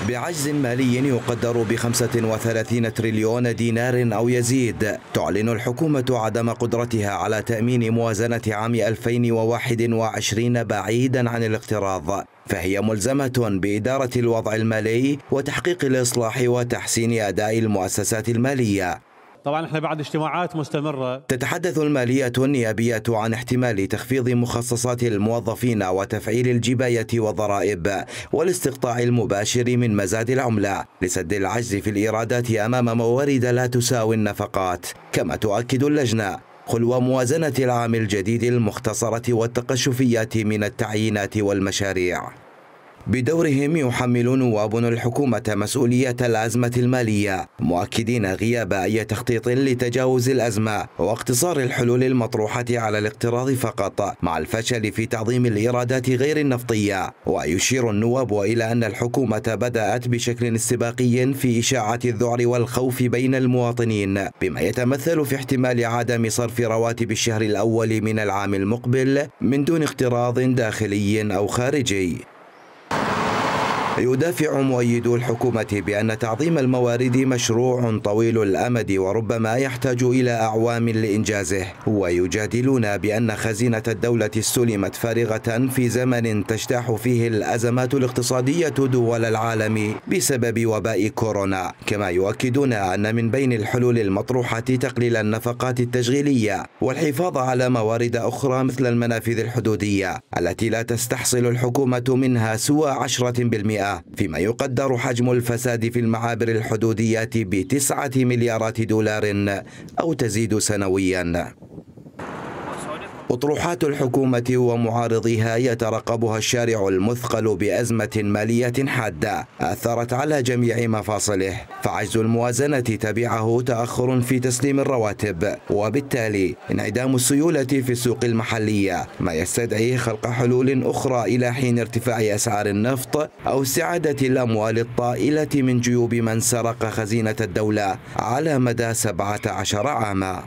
بعجز مالي يقدر ب35 تريليون دينار أو يزيد، تعلن الحكومة عدم قدرتها على تأمين موازنة عام 2021 بعيدا عن الاقتراض، فهي ملزمة بإدارة الوضع المالي وتحقيق الإصلاح وتحسين أداء المؤسسات المالية. طبعا احنا بعد اجتماعات مستمرة. تتحدث المالية النيابية عن احتمال تخفيض مخصصات الموظفين وتفعيل الجباية والضرائب والاستقطاع المباشر من مزاد العملة لسد العجز في الإيرادات أمام موارد لا تساوي النفقات. كما تؤكد اللجنة خلو موازنة العام الجديد المختصرة والتقشفيات من التعيينات والمشاريع. بدورهم يحمل نواب الحكومة مسؤولية الأزمة المالية، مؤكدين غياب أي تخطيط لتجاوز الأزمة واقتصار الحلول المطروحة على الاقتراض فقط مع الفشل في تعظيم الإيرادات غير النفطية. ويشير النواب إلى أن الحكومة بدأت بشكل استباقي في إشاعة الذعر والخوف بين المواطنين، بما يتمثل في احتمال عدم صرف رواتب الشهر الأول من العام المقبل من دون اقتراض داخلي أو خارجي. يدافع مؤيدو الحكومة بأن تعظيم الموارد مشروع طويل الأمد وربما يحتاج إلى أعوام لإنجازه، ويجادلون بأن خزينة الدولة استلمت فارغة في زمن تجتاح فيه الأزمات الاقتصادية دول العالم بسبب وباء كورونا. كما يؤكدون أن من بين الحلول المطروحة تقليل النفقات التشغيلية والحفاظ على موارد أخرى مثل المنافذ الحدودية التي لا تستحصل الحكومة منها سوى 10%، فيما يقدر حجم الفساد في المعابر الحدودية ب9 مليارات دولار أو تزيد سنويا. أطروحات الحكومة ومعارضيها يترقبها الشارع المثقل بأزمة مالية حادة أثرت على جميع مفاصله، فعجز الموازنة تبعه تأخر في تسليم الرواتب، وبالتالي انعدام السيولة في السوق المحلية، ما يستدعي خلق حلول أخرى إلى حين ارتفاع أسعار النفط أو استعادة الأموال الطائلة من جيوب من سرق خزينة الدولة على مدى 17 عاما.